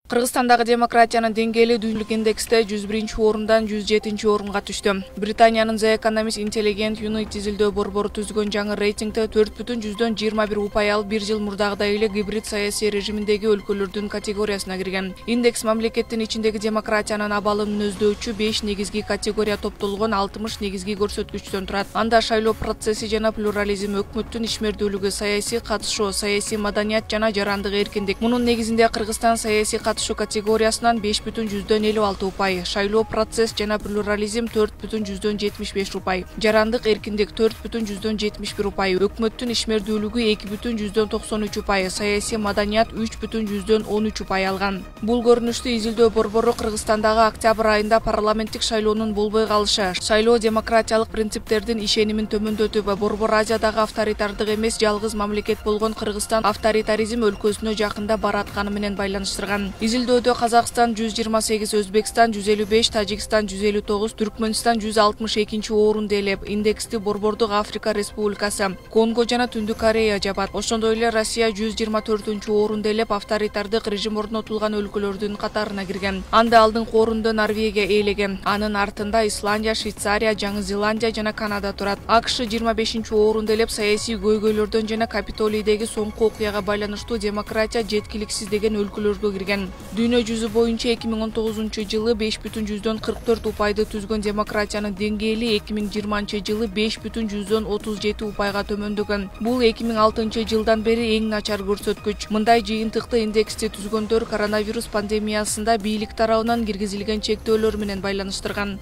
Кыргызстандагы демократиянын деңгээли дүйнөлүк индексте 101-орундан 107-орунга түштү. Британиянын The Economist Intelligent Unit изилдөө борбору түзгөн жаңы рейтингде 4,21 упай алып, бир жыл мурдагыдай эле гибрид саясий режиминдеги өлкөлөрдүн категориясына кирген. Индекс мамлекеттин ичиндеги демократиянын абалын мүнөздөүчү 5 негизги категория топтолгон 60 негизги көрсөткүчтөн турат. Анда шайлоо процесси жана плюрализм, өкмөттүн ишмердүүлүгү, саясий катышуу, саясий маданият жана жарандык эркиндик. Мунун негизинде Кыргызстан саясий катышуу категориясынан 5,56 упай, шайлоо процесс жана плюрализм 4,75 упай, жарандык эркиндик 4,71 упай, өкмөттүн ишмердүүлүгү 2,93 упай, саясий маданият 3,13 упай алган. Бул көрүнүштү изилдөө борбору Кыргызстандагы октябрь айында парламенттик шайлоонун болбой калышы, шайлоо демократиялык принциптердин ишенимин төмөндөтүп, борбор Азиядагы авторитардык эмес жалгыз мамлекет болгон Кыргызстан авторитаризм өлкөсүнө жакында баратканы менен байланыштырган. Изилдөөдө Казакстан 128, Өзбекстан 155, Тажикстан 159, Түркмөнстан 162-орунду ээлеп, индексти борбордук Африка Республикасы, Конго жана Түндүк Корея жабат. Ошондой эле Россия 124-орунду ээлеп, авторитардык режим орнотулган өлкөлөрдүн катарына кирген. Анда алдыңкы орунду Норвегия ээлеген. Анын артында Исландия, Швейцария, Жаңы Зеландия жана Канада турат. АКШ 25-орунду ээлеп, саясий көйгөйлөрдөн жана Капитолийдеги соңку окуяга байланыштуу демократия жеткиликсиз деген өлкөлөргө кирген. Дүйнө жүзү боюнча 2019-жылы 5,44 упайды түзгөн демократиянын деңгээли 2020-жылы 5,37 упайга төмөндөгөн. Бул 2006-жылдан бери эң начар көрсөткүч. Мындай жыйынтыкты индексти түзгөндөр коронавирус пандемиясында бийлик тарабынан киргизилген чектөөлөр менен байланыштырган.